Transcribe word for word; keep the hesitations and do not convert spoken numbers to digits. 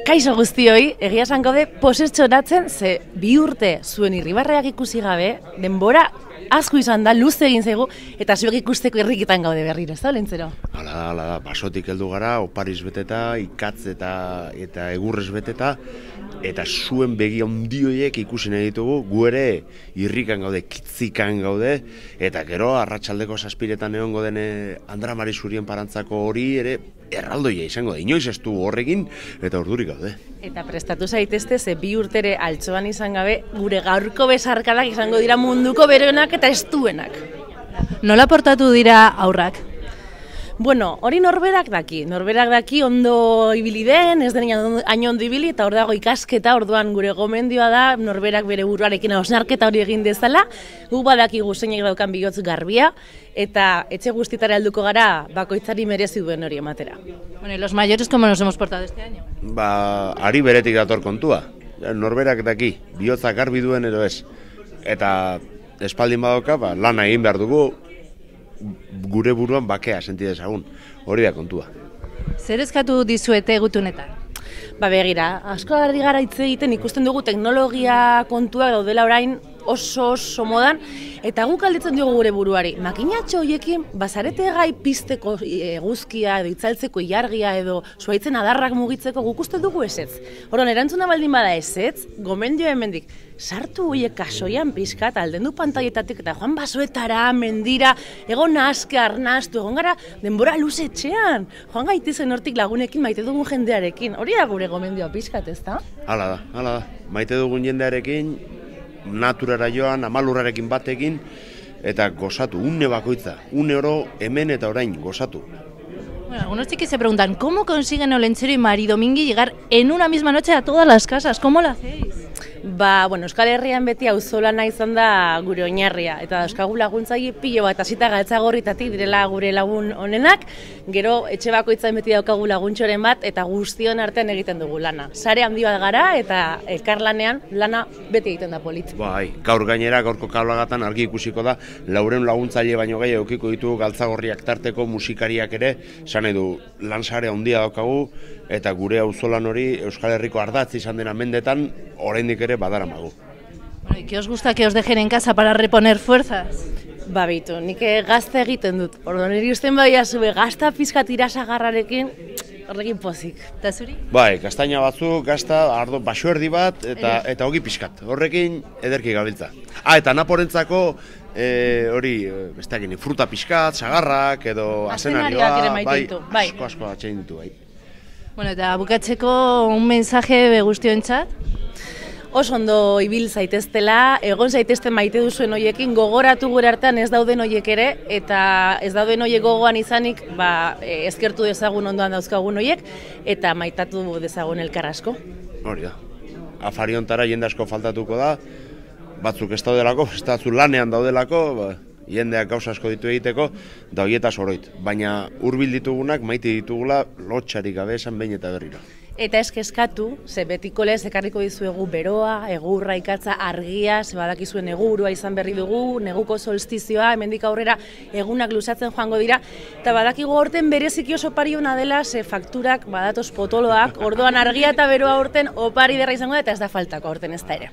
Kaixo guztioi, egia esan gaude posetxoratzen, ze bi urte zuen irribarreak ikusi gabe, denbora asko izan da, luze egin zaigu, eta zuek ikusteko irrikitan gaude berriro, ez da, Olentzero? Hala da, hala da, basotik heldu gara, opariz beteta, ikatz eta, eta egurrez beteta, eta zuen begi ondioiek ikusi nahi ditugu, gu ere irrikan gaude, kitzikan gaude, eta gero arratsaldeko zazpiretan egongo dene Andra Mari Zurien parantzako hori ere erraldoia izango da, inoiz ez du horrekin, eta ordurik gaude. Eta prestatu zaitezte, ze bi urtere altxoan izan gabe, gure gaurko besarkadak izango dira munduko beroenak eta estuenak. Nola portatu dira aurrak? Bueno, hori norberak daki, norberak daki ondo ibili den, ez den hain ondo ibili, eta hor dago ikasketa, orduan gure gomendioa da, norberak bere buruarekin hausnarketa hori egin dezala, gu badakigu zeinek daukan bihotz garbia, eta etxe guztitara helduko gara bakoitzari merezi duen hori ematera. Bueno, y los mayores, ¿cómo nos hemos portado este año? Ba, ari beretik dator kontua, norberak daki, bihotza garbi duen edo ez, eta espaldin badoka, ba, lana egin behar dugu, gure buruan bakea senti dezagun, hori da kontua. Zer eskatu dizuete gutunetan? Ba begira, asko ari gara hitz egiten ikusten dugu teknologia kontuak daudela orain oso oso modan, eta guk galdetzen diogu gure buruari, makinatxo horiekin bazarete gai pizteko eguzkia edo itzaltzeko ilargia edo zuhaitzen adarrak mugitzeko guk uste dugu ezetz. Orduan erantzuna baldin bada ezetz, gomendio hemendik, sartu horiek kasoian pizkat, aldendu pantaietatik eta joan basoetara, mendira, egon naske, arnastu, egon gara denbora luze etxean, joan gaitezen hortik lagunekin maite dugun jendearekin, hori da gure gomendioa pizkat, ez da? Hala da, hala da, maite dugun jendearekin, naturara joan, amalurrarekin batekin, eta gozatu, une bakoitza, une oro hemen eta orain gozatu. Bueno, algunos chiquis se preguntan, ¿cómo consiguen Olentzero y Mari Domingui llegar en una misma noche a todas las casas? ¿Cómo lo hacéis? Ba, bueno, Euskal Herrian beti auzolana izan da gure oinarria, eta dauzkagu laguntzaile pilo bat hasita Galtzagorritatik direla gure lagun honenak, gero etxe bakoitzain beti daukagu laguntxoren bat, eta guztion artean egiten dugu lana. Sare handi bat gara, eta elkarlanean lana beti egiten da polit. Bai, gaur gainera, gaurko kablagatan argi ikusiko da, lauren laguntzaile baino gehi eukiko ditu Galtzagorriak tarteko musikariak ere, esan edu lansare handia daukagu, eta gure auzolan hori Euskal Herriko ardatz izan dena mendetan, oraindik ere badaramagu. Bueno, ¿y qué os gusta que os dejen en casa para reponer fuerzas? Ba, bitu, nik gazta egiten dut. Orduan, niri usten badia zube gazta pizkat irasagarrarekin, horrekin pozik. Eta zuri? Bai, kastaina batzuk, gazta, ardo, baso erdi bat, eta eta hogi pizkat. Horrekin ederki gabiltza. Ah, eta naporentzako, e, hori, besteakin, fruta pizkat, sagarrak, edo azenarioa, ere maite bai, ditu, bai. asko asko atxein ditu, bai. Bueno, eta bukatzeko un mensaje guztiontzat? Oso ondo ibil zaiteztela, egon zaitezten maite duzuen hoiekin, gogoratu gure artean ez dauden hoiek ere, eta ez dauden hoiek gogoan izanik, ba, eskertu dezagun ondoan dauzkagun hoiek, eta maitatu dezagun elkar asko. Hori da. Afari hontara jende asko faltatuko da, batzuk ez daudelako, ez da zu lanean daudelako, ba, jendeak gauza asko ditu egiteko, da horietaz oroit. Baina hurbil ditugunak maite ditugula lotxarik gabe esan behin eta berriro. Eta eskeskatu, ze betiko lez ekarriko dizuegu beroa, egurra, ikatza, argia, ze badakizuen negurua izan berri dugu, neguko solstizioa, hemendik aurrera egunak luzatzen joango dira, eta badakigu aurten bereziki oso opari ona dela, ze fakturak badatoz potoloak, orduan argia eta beroa aurten opari derra izango da, eta ez da faltako aurten ez da ere.